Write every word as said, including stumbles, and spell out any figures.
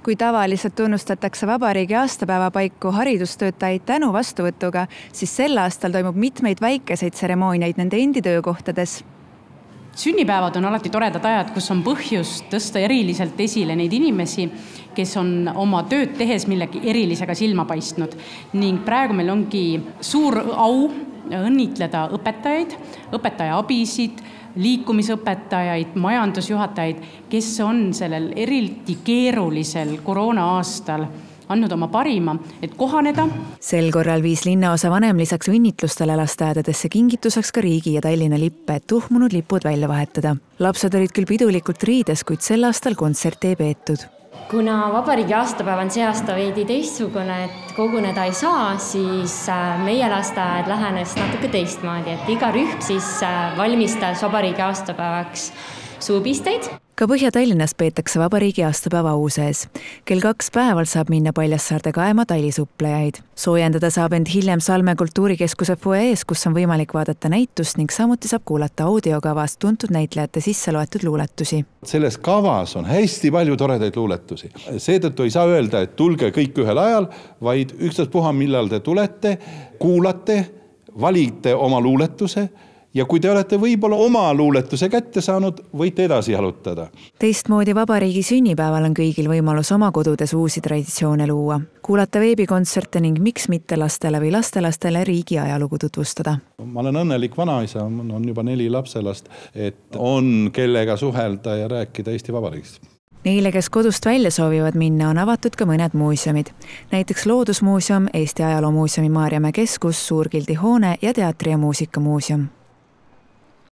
Kui tavaliselt tunnustatakse vabariigi aastapäeva paiku haridustöötajaid tänu vastuvõtuga, siis sel aastal toimub mitmeid väikeseid tseremooniaid nende endi töökohtades. Sünnipäevad on alati toredad ajad, kus on põhjus tõsta eriliselt esile neid inimesi, kes on oma tööd tehes millegi erilisega silma paistnud. Ning praegu meil ongi suur au õnnitleda õpetajaid, õpetaja abisid, liikumisõpetajaid, majandusjuhatajaid, kes on sellel eriti keerulisel koroona aastal andnud oma parima, et kohaneda. Sel korral viis linnaosa vanem lisaks õnnitlustele lasteaedadesse kingituseks ka riigi ja Tallinna lippe, et tuhmunud lipud välja vahetada. Lapsed olid küll pidulikult riides, kuid sel aastal kontserti ei peetud. Kuna vabariigi aastapäev on see aasta veidi teistsugune, et koguneda ei saa, siis meie lasteaed lähenes natuke teistmoodi, et iga rühm siis valmistas vabariigi aastapäevaks suupisteid. Ka Põhja-Tallinnas peetakse vabariigi aastapäeva au sees. Kell kaks päeval saab minna Paljassaarde kaema tailisuplejaid. Soojendada saab end hiljem Salme kultuurikeskuse fuees, kus on võimalik vaadata näitust ning samuti saab kuulata audiokavast tuntud näitlejate sisse loetud luuletusi. Selles kavas on hästi palju toredaid luuletusi. Seetõttu ei saa öelda, et tulge kõik ühel ajal, vaid ükstaspuha, millal te tulete, kuulate, valite oma luuletuse. Ja kui te olete võib-olla oma luuletuse kätte saanud, võite edasi jalutada. Teistmoodi vabariigi sünnipäeval on kõigil võimalus oma kodudes uusi traditsioone luua. Kuulata veebikontserte ning miks mitte lastele või lastelastele riigi ajalugu tutvustada. Ma olen õnnelik vanaisa, on juba neli lapselast, et on kellega suhelda ja rääkida Eesti Vabariigist. Neile, kes kodust välja soovivad minna, on avatud ka mõned muuseumid. Näiteks Loodusmuuseum, Eesti Ajaloomuuseumi Maarjamäe keskus, Suurgildi hoone ja Teatri- ja muusikamuuseum.